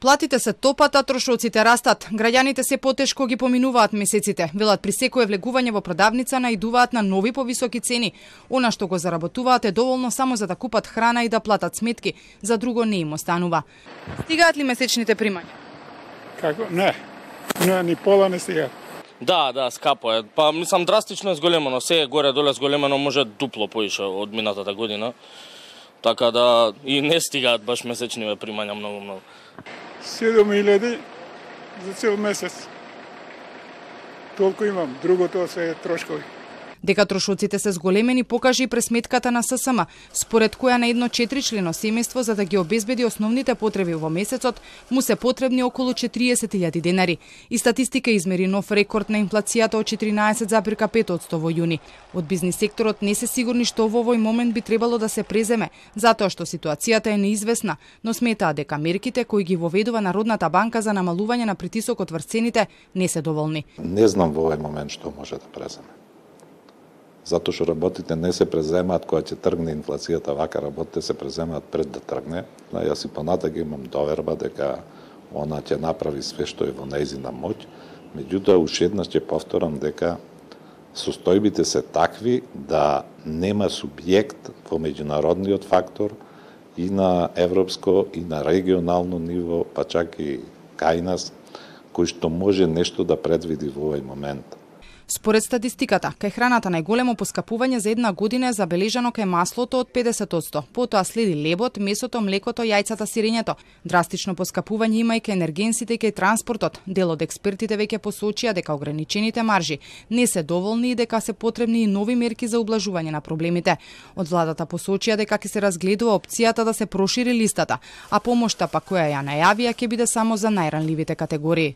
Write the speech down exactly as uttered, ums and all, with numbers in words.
Платите се топат, а трошоците растат. Граѓаните се потешко ги поминуваат месеците. Велат при секое влегување во продавница наидуваат на нови повисоки цени. Она што го заработуваат е доволно само за да купат храна и да платат сметки, за друго не им останува. Стигаат ли месечните примања? Како? Не. Не, ни пола не стига. Да, да, скапо е. Па мислам драстично е зголемено, се е горе доле зголемено, може дупло поише од минатата година. Така да и не стигаат баш месечниве примања многу многу. седум илјади за цел месец. Толку имам, другото се е трошкови. Дека трошоците се зголемени покажа и пресметката на ССМ, според која на едно четиричлено семејство за да ги обезбеди основните потреби во месецот му се потребни околу четириесет илјади денари. И статистика измери нов рекорд на инфлацијата од четиринаесет запирка пет одсто во јуни. Од бизнис секторот не се сигурни што во овој момент би требало да се преземе, затоа што ситуацијата е неизвестна, но сметаат дека мерките кои ги воведува Народната банка за намалување на притисокот врз цените не се доволни. Не знам во овој момент што може да преземе. Затоа што работите не се преземаат кога ќе тргне инфлацијата, вака работите се преземаат пред да тргне. Јас и понатака имам доверба дека она ќе направи све што е во нејзина моќ. Меѓутоа, уште еднаш ќе повторам дека состојбите се такви да нема субјект во меѓународниот фактор и на европско и на регионално ниво, па чак и кај нас, кој што може нешто да предвиди во овој момент. Според статистиката, кај храната најголемо поскапување за една година е забележано кај маслото од педесет одсто, потоа следи лебот, месото, млекото, јајцата, сирењето. Драстично поскапување има и кај енергенсите и кај транспортот. Дел од експертите веќе посочија дека ограничените маржи не се доволни и дека се потребни и нови мерки за ублажување на проблемите. Од владата посочија дека ќе се разгледува опцијата да се прошири листата, а помошта па која ја најавија ќе биде само за најранливите категории.